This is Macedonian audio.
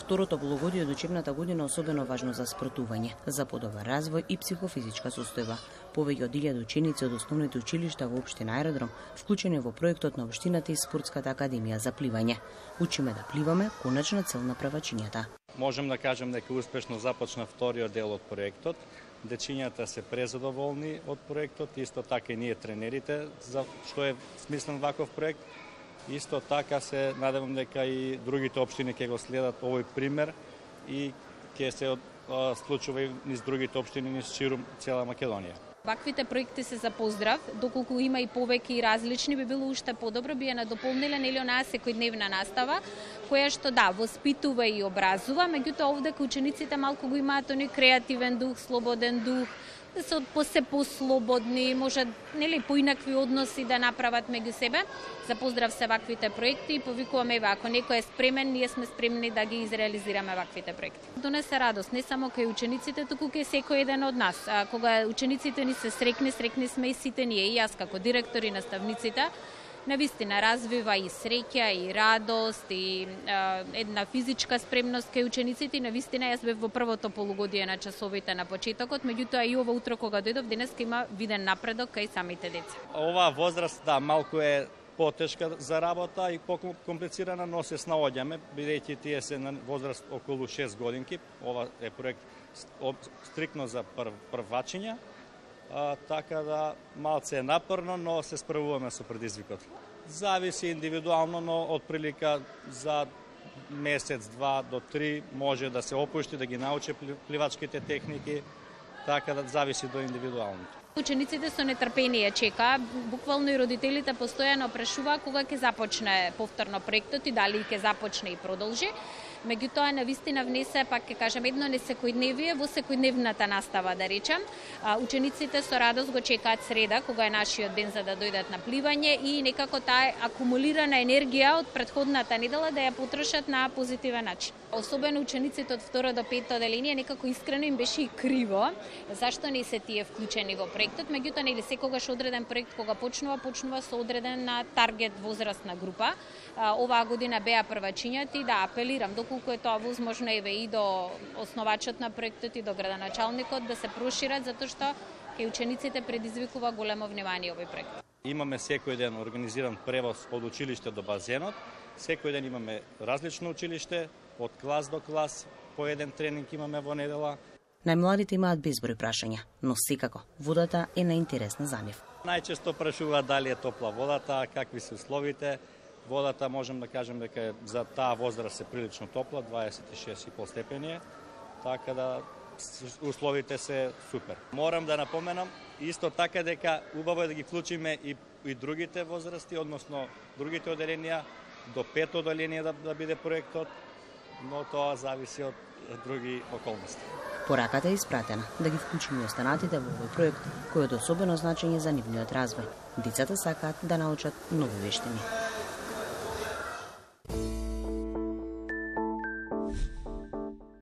Второто полугодие од учебната година особено важно за спортување, за подобар развој и психофизичка состојба. Повеќе од 1000 ученици од основните училишта во општина Аеродром вклучени во проектот на општината и спортската академија за пливање. Учиме да пливаме, конечна цел на првачињата. Можем да кажем дека успешно започна вториот дел од проектот. Дечињата се презадоволни од проектот, исто така и ние тренерите, за што е смислен ваков проект. Исто така се надевам дека и другите општини ќе го следат овој пример и ќе се случува и низ другите општини низ ширум цела Македонија. Ваквите проекти се за поздрав, доколку има и повеќе и различни, би било уште подобро, би ја надополнила нели онаа секојдневна настава, која што воспитува и образува, меѓутоа овде учениците малку го имаат оној креативен дух, слободен дух, да се послободни, може нели поинакви односи да направат меѓу себе. За поздрав се ваквите проекти и повикуваме ако некој е спремен, ние сме спремни да ги изреализираме ваквите проекти. Донесе радост не само кај учениците, туку кај секој еден од нас. Кога учениците ни се срекни сме и сите ние, и јас како директор и наставниците. Навистина развива и среќа, и радост, и една физичка спремност кај учениците. Навистина јас бев во првото полугодие на часовите на почетокот, меѓутоа и ова утро кога дојдов денеска има виден напредок кај самите деца. Оваа возраст малку е потешка за работа и покомплицирана, но се снаоѓаме, бидејќи тие се на возраст околу 6 годинки. Ова е проект стрикно за првачиња. Така да малце е напорно, но се справуваме со предизвикот. Зависи индивидуално, но од прилика за месец, 2 до 3 може да се опушти, да ги научи пливачките техники, така да зависи до индивидуално. Учениците со нетрпение чека, буквално и родителите постојано прашува кога ќе започне повторно проектот и дали ќе започне и продолжи. Меѓутоа, навистина внесе, пак ќе кажем, едно несекојдневие во секојдневната настава, да речем. Учениците со радост го чекаат среда, кога е нашиот ден за да дојдат на пливање и некако таа акумулирана енергија од претходната недела да ја потрошат на позитивен начин. Особено учениците од 2 до 5 оделение некако искрено им беше и криво зашто не се тие вклучени во проектот, меѓутоа нели секогаш одреден проект кога почнува со одреден таргет возрастна група. Оваа година беа првачињата и да апелирам доколку е тоа возможно и до основачот на проектот и до градоначалникот да се прошират затоа што кај учениците предизвикува големо внимание овој проект. Имаме секој ден организиран превоз од училиште до базенот. Секој ден имаме различно училиште, од клас до клас, по еден тренинг имаме во недела. Најмладите имаат безброј прашања, но секако водата е најинтересна за нив. Најчесто прашуваат дали е топла водата, какви се условите. Водата можем да кажем дека за таа возраст е прилично топла, 26,5 степени, така да условите се супер. Морам да напоменам исто така дека убаво е да ги вклучиме и другите возрасти, односно другите оделенија, до 5 оделение да биде проектот, но тоа зависи од други околности. Пораката е испратена да ги вклучиме останатите во овој проект, кој е од особено значење за нивниот развој. Децата сакаат да научат нови вештини.